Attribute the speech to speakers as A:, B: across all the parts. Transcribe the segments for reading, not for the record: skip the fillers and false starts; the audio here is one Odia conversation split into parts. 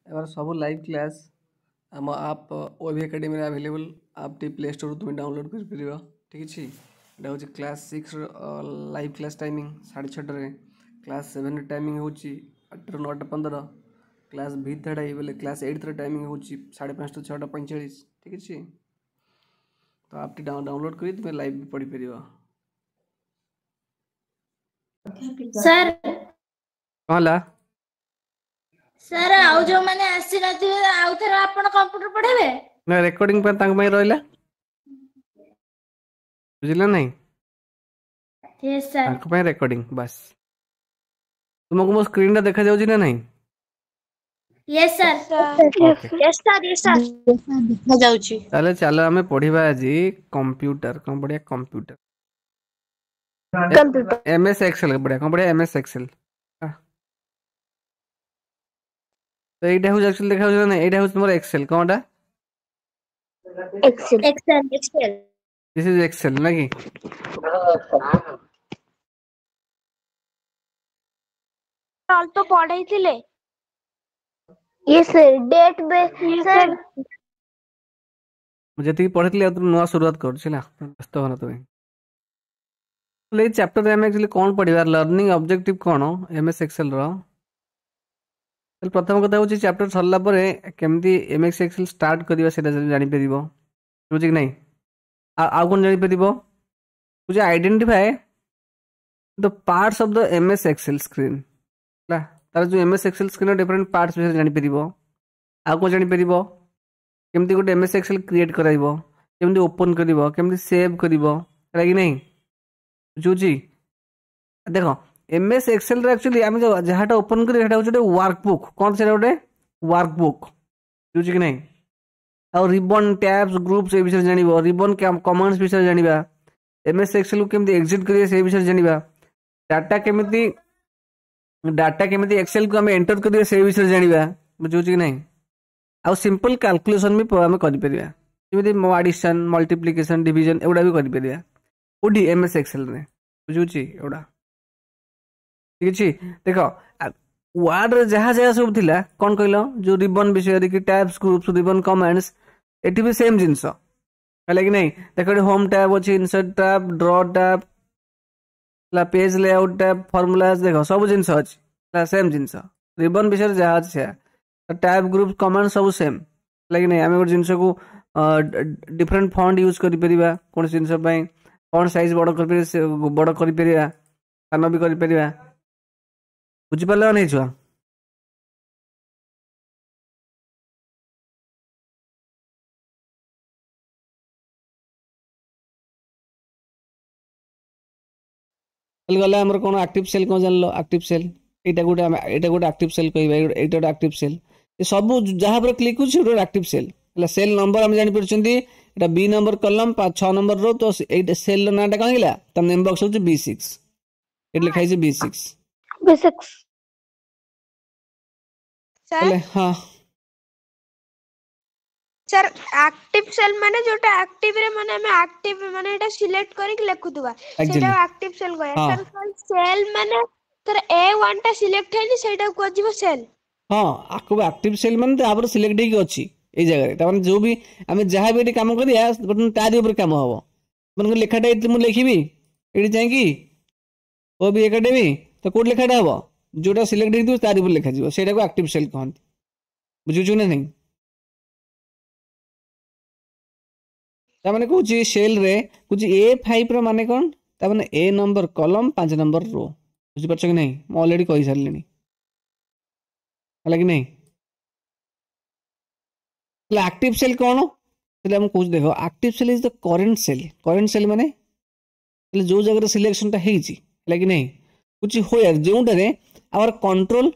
A: ଏବାର ସବୁ ଲାଇଭ୍ କ୍ଲାସ୍ ଆମ ଆପ୍ ଓଏଭି ଏକାଡେମୀରେ ଆଭେଲେବୁଲ୍। ଆପ୍ଟି ପ୍ଲେ ଷ୍ଟୋରରୁ ତୁମେ ଡାଉନଲୋଡ଼୍ କରିପାରିବ। ଠିକ୍ ଅଛି। ଏଇଟା ହେଉଛି କ୍ଲାସ୍ ସିକ୍ସର ଲାଇଭ୍ କ୍ଲାସ୍ timing 6:30ରେ। କ୍ଲାସ୍ ସେଭେନ୍ର ଟାଇମିଂ ହେଉଛି 8ରୁ 9:15। କ୍ଲାସ୍ ଭି ଥାର୍ଡ଼ ବୋଲେ କ୍ଲାସ୍ ଏଇଟ୍ର ଟାଇମିଂ ହେଉଛି 5:30ରୁ 6:45। ଠିକ୍ ଅଛି। ତ ଆପ୍ଟି ଡାଉନଲୋଡ଼୍ କରି ତୁମେ ଲାଇଭ୍ ବି ପଢ଼ିପାରିବ।
B: ସାର୍,
A: କ'ଣ ହେଲା?
B: ସାର୍, ଆଉ ଯୋଉମାନେ ଆସିନଥିବେ, ଆଉ ଥରେ ଆପଣ କମ୍ପ୍ୟୁଟର ପଢେଇବେ?
A: ନା, ରେକର୍ଡ଼ିଂ ପାଇଁ ତାଙ୍କ ପାଇଁ ରହିଲା। ବୁଝିଲେ ନାହିଁ?
B: Yes sir.
A: ତାଙ୍କ ପାଇଁ ରେକର୍ଡ଼ିଂ ବାସ୍। ତୁମକୁ ମୋ ସ୍କ୍ରିନ୍ଟା ଦେଖାଯାଉଛି ନା ନାହିଁ?
B: Yes sir.
A: Okay.
B: Yes sir, yes sir.
C: ଦେଖାଯାଉଛି।
A: ତାହେଲେ ଚାଲ ଆମେ ପଢିବା ଆଜି କମ୍ପ୍ୟୁଟର। କ'ଣ ପଢିବା? Computer.
B: Computer.
A: M S Excel ପଢିବା। କ'ଣ ପଢିବା? M S Excel. ତ ଏଇଟା ହେଉଛି ଆକ୍ଚୁଆଲି, ଦେଖାଯାଉଛି ନା ନାହିଁ? ଏଇଟା ହେଉଛି ତୁମର ଏକ୍ସେଲ। କ'ଣଟା?
B: Excel, Excel, Excel.
A: This is Excel ନା କି?
D: ଅଳ୍ପ ପଢେଇଥିଲେ।
B: Yes sir, date sir.
A: ମୁଁ ଯେତିକି ପଢିଥିଲି, ଆଉ ନୂଆ ଶୁରୁଆତ କରୁଛି, ହେଲା? ବ୍ୟସ୍ତ ହୁଅନା ତୁମେ। ତାହେଲେ ଏଇ ଚାପ୍ଟରରେ ଆମେ ଆକ୍ଚୁଆଲି କ'ଣ ପଢିବା? ଲର୍ଣ୍ଣିଂ ଅବଜେକ୍ଟିଭ କ'ଣ ଏମ୍ ଏସ୍ ଏକ୍ସେଲର? ତାହେଲେ ପ୍ରଥମ କଥା ହେଉଛି, ଚାପ୍ଟର ସରିଲା ପରେ କେମିତି ଏମ୍ ଏସ୍ ଏକ୍ସେଲ ଷ୍ଟାର୍ଟ କରିବା ସେଇଟା ଜାଣିପାରିବ। ବୁଝୁଛି କି ନାହିଁ? ଆଉ କ'ଣ ଜାଣିପାରିବ? ବୁଝି, identify the parts of the MS Excel screen. ହେଲା, ତାର ଯେଉଁ ଏମ୍ ଏସ୍ ଏକ୍ସେଲ ସ୍କ୍ରିନ୍ର ଡିଫରେଣ୍ଟ ପାର୍ଟସ୍ ବିଷୟରେ ଜାଣିପାରିବ। ଆଉ କ'ଣ ଜାଣିପାରିବ? କେମିତି ଗୋଟେ ଏମ୍ ଏସ୍ ଏକ୍ସେଲ କ୍ରିଏଟ୍ କରାଇବ, କେମିତି ଓପନ୍ କରିବ, କେମିତି ସେଭ୍ କରିବ, ହେଲା କି ନାହିଁ? ବୁଝୁଛି? ଦେଖ, ଏମ୍ ଏସ୍ ଏକ୍ସେଲରେ ଆକ୍ଚୁଆଲି ଆମେ ଯେଉଁ ଯାହାଟା ଓପନ୍ କରିବ, ସେଇଟା ହେଉଛି ଗୋଟେ ୱାର୍କ ବୁକ୍। କ'ଣ ସେଇଟା? ଗୋଟେ ୱାର୍କ ବୁକ୍। ବୁଝୁଛି କି ନାହିଁ? ଆଉ ରିବନ୍, ଟ୍ୟାବ୍ସ, ଗ୍ରୁପ୍ସ ଏ ବିଷୟରେ ଜାଣିବ। ରିବନ୍ କମାଣ୍ଡସ୍ ବିଷୟରେ ଜାଣିବା। ଏମ୍ ଏସ୍ ଏକ୍ସେଲକୁ କେମିତି ଏକ୍ଜିଟ୍ କରିବେ ସେଇ ବିଷୟରେ ଜାଣିବା। ଡାଟା କେମିତି ଏକ୍ସେଲକୁ ଆମେ ଏଣ୍ଟର କରିବା ସେଇ ବିଷୟରେ ଜାଣିବା। ବୁଝୁଛି କି ନାହିଁ? ଆଉ ସିମ୍ପଲ୍ କାଲକୁଲେସନ୍ ବି ଆମେ କରିପାରିବା, ଯେମିତି ଆଡ଼ିସନ୍, ମଲ୍ଟିପ୍ଲିକେସନ୍, ଡିଭିଜନ୍, ଏଗୁଡ଼ା ବି କରିପାରିବା। କୋଉଠି? ଏମ୍ ଏସ୍ ଏକ୍ସେଲରେ। ବୁଝୁଛି ଏଗୁଡ଼ା? ଠିକ୍ ଅଛି। ଦେଖ, ୱାର୍ଡରେ ଯାହା ଯାହା ସବୁ ଥିଲା, କ'ଣ କହିଲ, ଯୋଉ ରିବନ୍ ବିଷୟରେ କି ଟ୍ୟାବ୍ସ, ଗ୍ରୁପ୍ସ, ରିବନ୍ କମାଣ୍ଡସ୍, ଏଠି ବି ସେମ୍ ଜିନିଷ, ହେଲା କି ନାହିଁ? ଦେଖ, ଏଠି ହୋମ୍ ଟ୍ୟାବ୍ ଅଛି, ଇନସର୍ଟ ଟ୍ୟାବ୍, ଡ୍ର ଟ୍ୟାବ୍, ହେଲା, ପେଜ୍ ଲେଆଉଟ୍ ଟ୍ୟାବ୍, ଫର୍ମୁଲାସ୍, ଦେଖ ସବୁ ଜିନିଷ ଅଛି, ହେଲା? ସେମ୍ ଜିନିଷ, ରିବନ୍ ବିଷୟରେ ଯାହା ଅଛି ସେୟା। ଟ୍ୟାବ୍, ଗ୍ରୁପ୍, କମାଣ୍ଡ ସବୁ ସେମ୍, ହେଲା କି ନାହିଁ? ଆମେ ଗୋଟେ ଜିନିଷକୁ ଡିଫରେଣ୍ଟ ଫଣ୍ଟ ୟୁଜ୍ କରିପାରିବା, କୌଣସି ଜିନିଷ ପାଇଁ ଫଣ୍ଟ ସାଇଜ୍ ବଡ଼ କରିପାରିବା, ସେ ବଡ଼ କରିପାରିବା, ସାନ ବି କରିପାରିବା। ବୁଝିପାରିଲ ନା ନାହିଁ ଛୁଆ? ତାହେଲେ ଗଲା ଆମର କ'ଣ ଆକ୍ଟିଭ ସେଲ୍ କ'ଣ ଜାଣିଲ? ଆକ୍ଟିଭ ସେଲ୍ ଏଇଟା ଗୋଟେ, ଆମେ ଏଇଟା ଗୋଟେ ଆକ୍ଟିଭ ସେଲ୍ କହିବା। ଏଇଟା ଗୋଟେ ଆକ୍ଟିଭ ସେଲ୍। ଏ ସବୁ ଯାହା ଉପରେ କ୍ଲିକ୍ କରୁଛି, ସେଇଟା ଗୋଟେ ଆକ୍ଟିଭ ସେଲ୍ ହେଲା। ସେଲ୍ ନମ୍ବର ଆମେ ଜାଣିପାରୁଛନ୍ତି, ଏଇଟା ବି ନମ୍ବର କଲମ, 6 ନମ୍ବର ରୋ। ତ ଏଇଟା ସେଲ୍ର ନାଁଟା କ'ଣ ହେଇଗଲା? ତା ନେମ୍ ବକ୍ସ ହେଉଛି ବି 6। ଏଠି ଲେଖା ହେଇଛି ବି 6।
B: ବି 6।
D: ସାର୍।
A: ହେଲେ ହଁ।
D: ସାର୍, ଆକ୍ଟିଭ ସେଲ୍ ମାନେ ଯୋଉଟା ଆକ୍ଟିଭ ରେ, ମାନେ ଆମେ ଆକ୍ଟିଭ ମାନେ ଏଇଟା ସିଲେକ୍ଟ କରିକି ଲେଖୁଥିବା, ସେଇଟା ଆକ୍ଟିଭ ସେଲ୍ କହିବା? ସାର୍, ସେଲ୍ ମାନେ ସାର୍, ଏ 1 ଟା ସିଲେକ୍ଟ ହେଇନି, ସେଇଟାକୁ କୁହାଯିବ ସେଲ୍?
A: ହଁ, ଆକୁ ଆକ୍ଟିଭ ସେଲ୍ ମାନେ ତାପରେ ସିଲେକ୍ଟ ହେଇକି ଅଛି ଏଇ ଜାଗାରେ। ତାମାନେ ଯୋଉ ବି ଆମେ ଯାହା ବି ଏଠି କାମ କରିବା, ବର୍ତ୍ତମାନ ତାରି ଉପରେ କାମ ହବ। ମନେକର ଲେଖାଟା ଏଠି ମୁଁ ଲେଖିବି, ଏଠି ଯାଇକି ଓ ବି ଏକାଡେମୀ, ତ କୋଉଠି ଲେଖାଟା ହବ? ଯୋଉଟା ସିଲେକ୍ଟ ହେଇଥିବ ତାରି ଉପରେ ଲେଖାଯିବ। ସେଇଟାକୁ ଆକ୍ଟିଭ ସେଲ୍ କହନ୍ତି। ବୁଝୁଛୁ ନା ନାହିଁ? ତାମାନେ କହୁଛି, ସେଲ୍ରେ କହୁଛି, ଏ 5ର ମାନେ କ'ଣ? ତାମାନେ ଏ ନମ୍ବର କଲମ, 5 ନମ୍ବର ରୋ। ବୁଝିପାରୁଛ କି ନାହିଁ? ମୁଁ ଅଲରେଡ଼ି କହିସାରିଲିଣି, ହେଲା କି ନାହିଁ? ତାହେଲେ ଆକ୍ଟିଭ ସେଲ୍ କ'ଣ ତାହେଲେ ମୁଁ କହୁଛି, ଦେଖ। Active cell is the current cell. Current cell ମାନେ ତାହେଲେ ଯୋଉ ଜାଗାରେ ସିଲେକ୍ସନଟା ହେଇଛି, ହେଲା କି ନାହିଁ? କହୁଛି ହୋୟାର, ଯେଉଁଟାରେ our control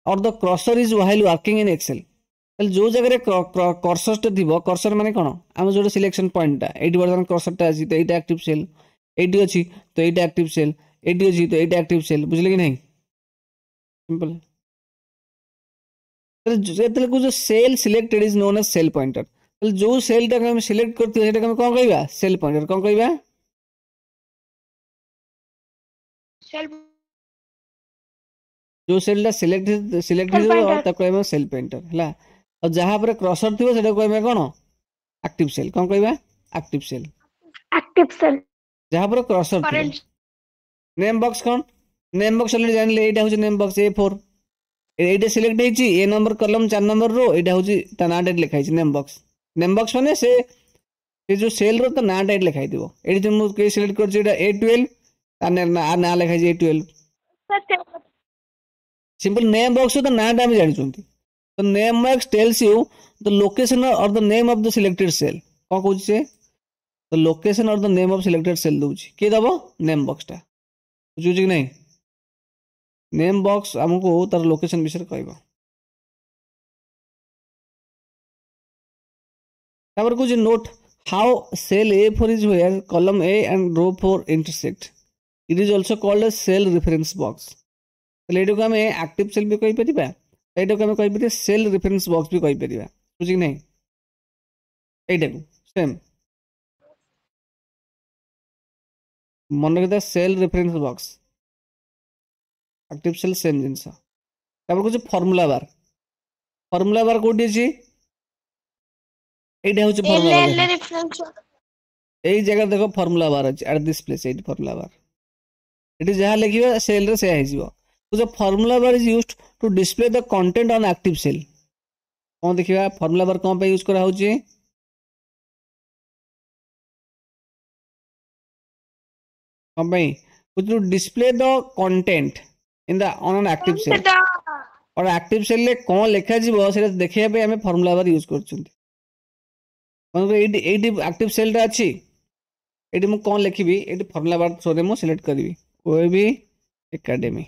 A: or the cursor is while working in Excel. ତାହେଲେ ଯୋଉ ଜାଗାରେ କର୍ସରଟା ଥିବ। କର୍ସର ମାନେ କ'ଣ? ଆମ ଯୋଉଟା ସିଲେକ୍ସନ ପଏଣ୍ଟଟା। ଏଇଠି ବର୍ତ୍ତମାନ କର୍ସରଟା ଅଛି, ତ ଏଇଟା ଆକ୍ଟିଭ ସେଲ୍। ଏଇଠି ଅଛି, ତ ଏଇଟା ଆକ୍ଟିଭ ସେଲ୍। ଏଇଠି ଅଛି, ତ ଏଇଟା ଆକ୍ଟିଭ ସେଲ୍। ବୁଝିଲେ କି ନାହିଁ? ସିମ୍ପଲ। ଯେତେବେଳେ କହୁଛ, cell selected is known as cell pointer. ତାହେଲେ ଯୋଉ ସେଲ୍ଟାକୁ ଆମେ ସିଲେକ୍ଟ କରିଥିବା, ସେଟାକୁ ଆମେ କ'ଣ କହିବା? Cell pointer. କ'ଣ କହିବା?
D: ସେଲ୍।
A: ଯୋଉ ସେଲ୍ଟା ସିଲେକ୍ଟ ସିଲେକ୍ଟ
D: ସେଲ୍
A: ହେଇଥିବ
D: ପଏଣ୍ଟର।
A: ତାକୁ କହିବା ସେଲ୍ ପଏଣ୍ଟର। ହେଲା, ଆଉ ଯାହା ଉପରେ କ୍ରସର ଥିବ ସେଟାକୁ କହିବା କ'ଣ? Active cell. କ'ଣ କହିବା? Active cell.
D: Active cell.
A: ଯାହା ଉପରେ କ୍ରସର ଥିବ।
D: କରେଣ୍ଟ।
A: ନେମ୍ ବକ୍ସ କ'ଣ? ନେମ୍ ବକ୍ସ ଅଲରେଡି ଜାଣିଲେ, ଏଇଟା ହେଉଛି ନେମ୍ ବକ୍ସ, ଏ4। ଏଇଟା ସିଲେକ୍ଟ ହେଇଛି, ଏ ନମ୍ବର କଲମ, 4 ନମ୍ବର ରୋ, ଏଇଟା ହେଉଛି ତା ନାଁଟା ଏଠି ଲେଖା ହେଇଛି ନେମ୍ ବକ୍ସ। ନେମ୍ ବକ୍ସ ମାନେ ସେ ଯୋଉ ସେଲ୍ର ତା ନାଁଟା ଏଠି ଲେଖା ହେଇଥିବ। ଏଇଠି ଯୋଉ ମୁଁ ସିଲେକ୍ଟ କରିଛି ଏଇଟା ଏ12, ତା ନାଁ ଲେଖା ହେଇଛି ଏ12।
D: ସାର୍।
A: ସିମ୍ପଲ, ନେମ୍ ବକ୍ସ ତା ନାଁଟା ଆମେ ଜାଣିଛନ୍ତି ତ। Name box tells you the location or the name of the selected cell. କ'ଣ କହୁଛି ସେ? The location or the name of selected cell ଦଉଛି। କିଏ ଦବ? ନେମ୍ ବକ୍ସଟା। ବୁଝୁଛି କି ନାହିଁ? ନେମ୍ ବକ୍ସ ଆମକୁ ତାର ଲୋକେସନ ବିଷୟରେ କହିବ। ତାପରେ କହୁଛି, note how cell A4 is where column A and row 4 intersect. It is also called a cell reference box. ତାହେଲେ ଏଇଟାକୁ ଆମେ ଆକ୍ଟିଭ ସେଲ୍ ବି କହିପାରିବା, ଏଇଟାକୁ ଆମେ କହିପାରିବା ସେଲ୍ ରେଫରେନ୍ସ ବକ୍ସ ବି କହିପାରିବା। ବୁଝି କି ନାହିଁ? ଏଇଟାକୁ ସେମ୍ ମନେ ରଖିଥିବା, cell reference box, active cell same ଜିନିଷ। ତାପରେ କହୁଛି ଫର୍ମୁଲା ବାର। ଫର୍ମୁଲା ବାର କୋଉଠି ଅଛି? ଏଇଟା ହେଉଛି
D: ଏଲ୍
A: ଫର୍ମୁଲା ବାର।
D: ଏଲ୍
A: ଦେଖ,
D: ରେଫରେନ୍ସ।
A: ଏଇ ଜାଗାରେ ଦେଖ, ଫର୍ମୁଲା ବାର ଅଛି ଆଟ୍ this place. ଏଇଠି ଫର୍ମୁଲା ବାର, ଏଠି ଯାହା ଲେଖିବା ସେଲ୍ରେ ସେୟା ହେଇଯିବ। The formula bar is used to display the content on active cell. କ'ଣ ଦେଖିବା, ଫର୍ମୁଲା ବାର କ'ଣ ପାଇଁ ୟୁଜ୍ କରାହଉଛି? କ'ଣ ପାଇଁ? To display the content in the on an active cell.
D: ସେଟା
A: और ଆକ୍ଟିଭ ସେଲ୍ରେ କ'ଣ ଲେଖାଯିବ ସେଇଟା ଦେଖିବା ପାଇଁ ଆମେ ଫର୍ମୁଲା ବାର ୟୁଜ୍ କରୁଛନ୍ତି। ମନେକର ଏଇଠି ଆକ୍ଟିଭ ସେଲ୍ଟା ଅଛି, ଏଇଠି ମୁଁ କ'ଣ ଲେଖିବି? ଏଇଠି ଫର୍ମୁଲା ବାର ଥ୍ରୋରେ ମୁଁ ସିଲେକ୍ଟ କରିବି ଓଏଭି ଏକାଡେମୀ।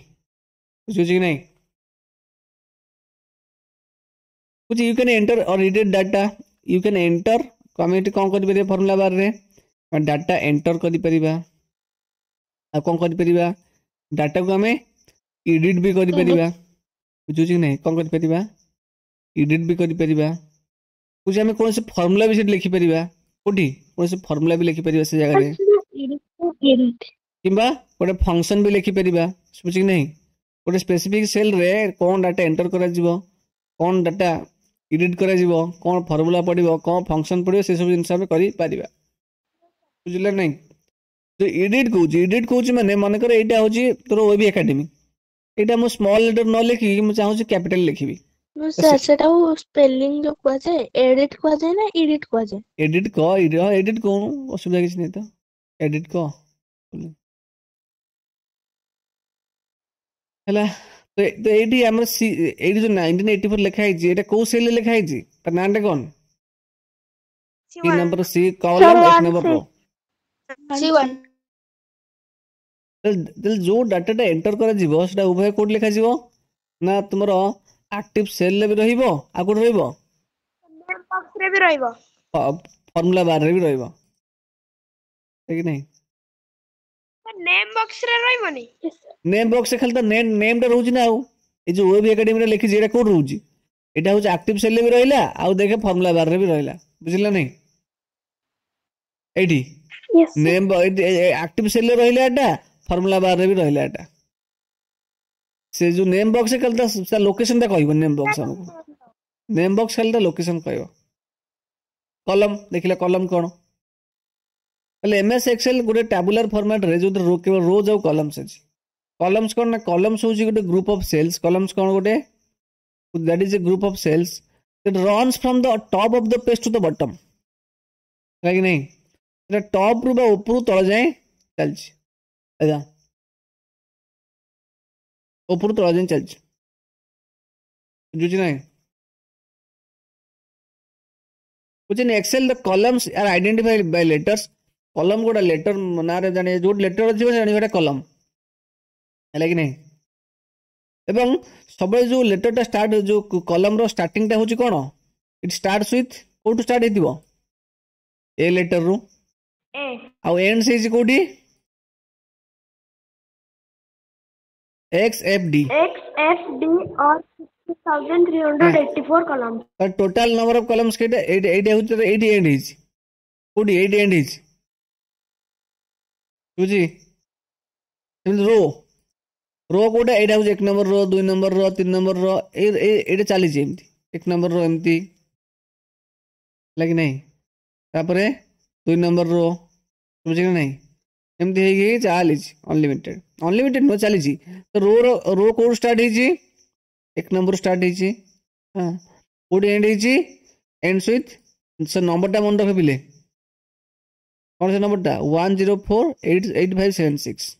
A: ବୁଝୁଛି କି ନାହିଁ? ବୁଝି, you can enter or edit data. You can enter, ଆମେ ଏଠି କ'ଣ କରିପାରିବା? ଫର୍ମୁଲା ବାରରେ ଡାଟା ଏଣ୍ଟର କରିପାରିବା। ଆଉ କ'ଣ କରିପାରିବା? ଡାଟାକୁ ଆମେ ଏଡିଟ୍ ବି କରିପାରିବା। ବୁଝୁଛି କି ନାହିଁ? କ'ଣ କରିପାରିବା? ଏଡିଟ୍ ବି କରିପାରିବା। ବୁଝି, ଆମେ କୌଣସି ଫର୍ମୁଲା ବି ସେଠି ଲେଖିପାରିବା। କୋଉଠି? କୌଣସି ଫର୍ମୁଲା ବି ଲେଖିପାରିବା ସେ ଜାଗାରେ, କିମ୍ବା ଗୋଟେ ଫଙ୍କସନ୍ ବି ଲେଖିପାରିବା। ବୁଝି କି ନାହିଁ? ଗୋଟେ ସ୍ପେସିଫିକ୍ ସେଲ୍ରେ କ'ଣ ଡାଟା ଏଣ୍ଟର କରାଯିବ, କ'ଣ ଡାଟା ଏଡିଟ୍ କରାଯିବ, କ'ଣ ଫର୍ମୁଲା ପଡ଼ିବ, କ'ଣ ଫଙ୍କସନ୍ ପଡ଼ିବ, ସେସବୁ ଜିନିଷ ଆମେ କରିପାରିବା। ବୁଝିଲେ ନାହିଁ? ତ ଏଡିଟ୍ କହୁଛି, ଏଡିଟ୍ କହୁଛି ମାନେ ମନେକର ଏଇଟା ହେଉଛି ତୋର ଓଏଭି ଏକାଡେମୀ। ଏଇଟା ମୁଁ ସ୍ମଲ୍ ଲେଟର ନ ଲେଖିକି ମୁଁ ଚାହୁଁଛି କ୍ୟାପିଟାଲ ଲେଖିବି।
C: ସାର୍, ସେଟାକୁ ସ୍ପେଲିଂ ଯୋଉ କୁହାଯାଏ, ଏଡିଟ୍ କୁହାଯାଏ ନା ଇଡିଟ୍ କୁହାଯାଏ?
A: ଏଡିଟ୍ କହ, ଏଡିଟ୍ କହୁନୁ, ଅସୁବିଧା କିଛି ନାହିଁ ତ। ଏଡିଟ୍ କହ ହେଲା। ତ ଏଇଠି ଆମର ସି ଏଇଠି ଯୋଉ 1984 ଲେଖା ହେଇଛି, ଏଇଟା କୋଉ ସେଲ୍ରେ ଲେଖା ହେଇଛି? ତା ନାଁଟା କ'ଣ?
D: C
A: C
D: one.
A: Number, C column, F number ରୋ।
B: C one.
A: ତାହେଲେ ଯୋଉ ଡାଟାଟା ଏଣ୍ଟର କରାଯିବ ସେଟା ଉଭୟ କୋଉଠି ଲେଖାଯିବ ନା ତୁମର ଆକ୍ଟିଭ ସେଲ୍ରେ ବି ରହିବ, ଆଉ କୋଉଠି ରହିବ?
D: ନେମ୍ ବକ୍ସରେ ବି ରହିବ।
A: ଫର୍ମୁଲା ବାରରେ ବି ରହିବ କି ନାହିଁ?
D: ନେମ୍ ବକ୍ସରେ ରହିବନି?
A: ନେମ୍ ବକ୍ସରେ ଖାଲି ତ ନେମ୍ ନେମ୍ଟା ରହୁଛି ନା। ଆଉ ଏଇ ଯୋଉ ୱେବ୍ ଏକାଡେମୀରେ ଲେଖିଛି, ଏଇଟା କୋଉଠି ରହୁଛି? ଏଇଟା ହଉଛି ଆକ୍ଟିଭ ସେଲ୍ରେ ବି ରହିଲା, ଆଉ ଦେଖେ ଫର୍ମୁଲା ବାରରେ ବି ରହିଲା। ବୁଝିଲା ନାହିଁ? ଏଇଠି ନେମ୍ ଆକ୍ଟିଭ ସେଲ୍ରେ ରହିଲା ଏଟା, ଫର୍ମୁଲା ବାରରେ ବି ରହିଲା ଏଟା। ସେ ଯୋଉ ନେମ୍ ବକ୍ସ ଖାଲି ତା ଲୋକେସନଟା କହିବ। ନେମ୍ ବକ୍ସ ଆମକୁ, ନେମ୍ ବକ୍ସ ଖାଲି ତା ଲୋକେସନ କହିବ। କଲମ ଦେଖିଲେ, କଲମ କ'ଣ? ତାହେଲେ ଏମ୍ଏସ୍ ଏକ୍ସେଲ ଗୋଟେ ଟାବୁଲାର ଫର୍ମାଟରେ ଯୋଉଥିରେ କେବଳ ରୋଜ୍ ଆଉ କଲମ୍ସ ଅଛି। କଲମ୍ସ କ'ଣ ନା କଲମ୍ସ ହେଉଛି ଗୋଟେ ଗ୍ରୁପ ଅଫ୍ ସେଲ୍ସ। କଲମ୍ସ କ'ଣ? ଗୋଟେ, that is a group of cells that runs from the top of the page to the bottom. ହେଲା କି ନାହିଁ? ସେଟା ଟପ୍ ରୁ ବା ଉପରୁ ତଳ ଯାଏଁ ଚାଲିଛି। ଆଜ୍ଞା, ଉପରୁ ତଳ ଯାଏଁ ଚାଲିଛି। ବୁଝୁଛି ନାହିଁ? ବୁଝିନି? Excel, the columns are identified by letters. କଲମ ଗୋଟେ ଲେଟର ନାଁରେ ଜାଣି, ଯୋଉଠି ଲେଟର ଥିବ ଜାଣିବ ଏଟା କଲମ। ହେଲା କି ନାହିଁ? ଏବଂ ସବୁବେଳେ ଯୋଉ ଲେଟରଟା ଷ୍ଟାର୍ଟ, ଯୋଉ କଲମର ଷ୍ଟାର୍ଟିଂଟା ହେଉଛି କ'ଣ? ଇଟ୍ ଷ୍ଟାର୍ଟସ୍ ୱିଥ୍, କୋଉଠୁ ଷ୍ଟାର୍ଟ ହେଇଥିବ? ଏ ଲେଟରରୁ।
D: ଏ।
A: ଆଉ ଏଣ୍ଡ ହେଇଛି କୋଉଠି? X F D.
D: X F D or 6384 column.
A: Total number of columns କେତେ? ଏଇଠି, ଏଇଠି ହେଉଛି, ଏଇଠି ଏଣ୍ଡ ହେଇଛି। କୋଉଠି? ଏଇଠି ଏଣ୍ଡ ହେଇଛି। ବୁଝି, ସେମିତି ରୋ ରୋ କୋଉଟା? ଏଇଟା ହେଉଛି 1 ନମ୍ବର ରୋ, 2 ନମ୍ବର ରୋ, 3 ନମ୍ବର ରୋ। ଏଇଟା ଚାଲିଛି ଏମିତି, 1 ନମ୍ବର ରୋ ଏମିତି ହେଲା କି ନାହିଁ? ତାପରେ 2 ନମ୍ବର ରୋ, ବୁଝିଲେ କି ନାହିଁ? ଏମିତି ହେଇକି ଚାଲିଛି, ଅନଲିମିଟେଡ୍। ଅନଲିମିଟେଡ୍ ନୁହଁ, ଚାଲିଛି ତ। ରୋର ରୋ କୋଉଠୁ ଷ୍ଟାର୍ଟ ହେଇଛି? 1 ନମ୍ବର ଷ୍ଟାର୍ଟ ହେଇଛି। ହଁ, କୋଉଠି ଏଣ୍ଡ ହେଇଛି? ଏଣ୍ଡସ୍ ୱିଥ୍, ସେ ନମ୍ବରଟା ମନେ ରଖ ପିଲେ, କ'ଣ ସେ ନମ୍ବରଟା? 1 0 4 8 8 5 7 6।